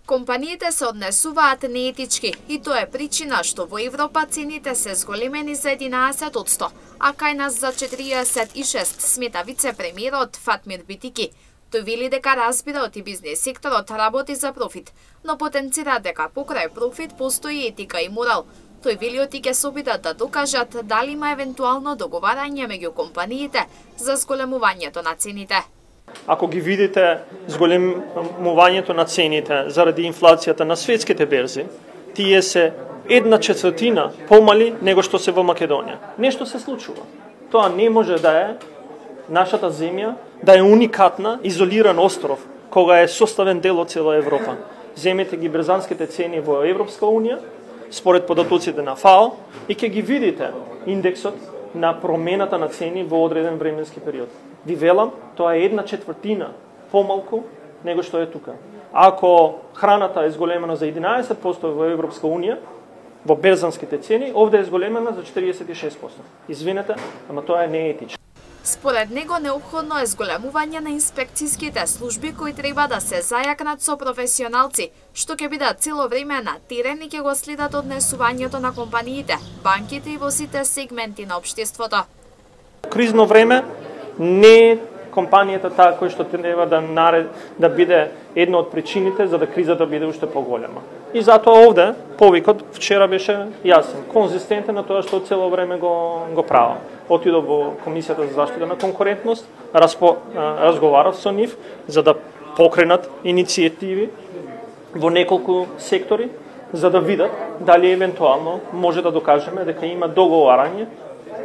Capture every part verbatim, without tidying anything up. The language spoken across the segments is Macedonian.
Компаниите се однесуваат неетички и тоа е причина што во Европа цените се зголемени за единаесет одсто, а кај нас за четириесет и шест, смета вице-премиерот Фатмир Битики. Тој вели дека разбира и бизнес секторот работи за профит, но потенцира дека покрај профит постои етика и морал. Тој вели оти ќе се обидат да докажат дали има евентуално договарање меѓу компаниите за зголемувањето на цените. Ако ги видите зголемувањето на цените заради инфлацијата на светските берзи, тие се една четвртина помали него што се во Македонија. Нешто се случува. Тоа не може да е нашата земја, да е уникатна, изолиран остров, кога е составен дел од цела Европа. Земете ги брзанските цени во Европска унија, според податоците на ФАО, и ќе ги видите индексот на промената на цени во одреден временски период. Ви велам, тоа е една четвртина помалку него што е тука. Ако храната е зголемена за единаесет одсто во Европска унија, во берзанските цени, овде е зголемена за четириесет и шест одсто. Извинете, ама тоа е неетично. Според него неопходно е зголемување на инспекцијските служби кои треба да се зајакнат со професионалци, што ќе бидат цело време на терен и ќе го следат однесувањето на компаниите, банките и во сите сегменти на општеството. Кризно време не е компанијата таа која што треба да наред, да биде една од причините за да кризата биде уште поголема. И затоа овде повикот вчера беше јасен, конзистентен на тоа што цело време го го правам. Отидов во Комисијата за заштита на конкурентност, распо, разговарав со нив за да покренат иницијативи во неколку сектори за да видат дали евентуално може да докажеме дека има договарање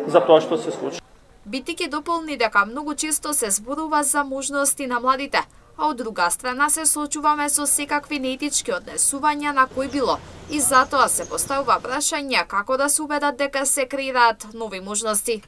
за тоа што се случи. Битики дополни дека многу често се зборува за можности на младите, а од друга страна се соочуваме со секакви неетички однесувања на кој било и затоа се поставува прашање како да се убедат дека се креираат нови можности.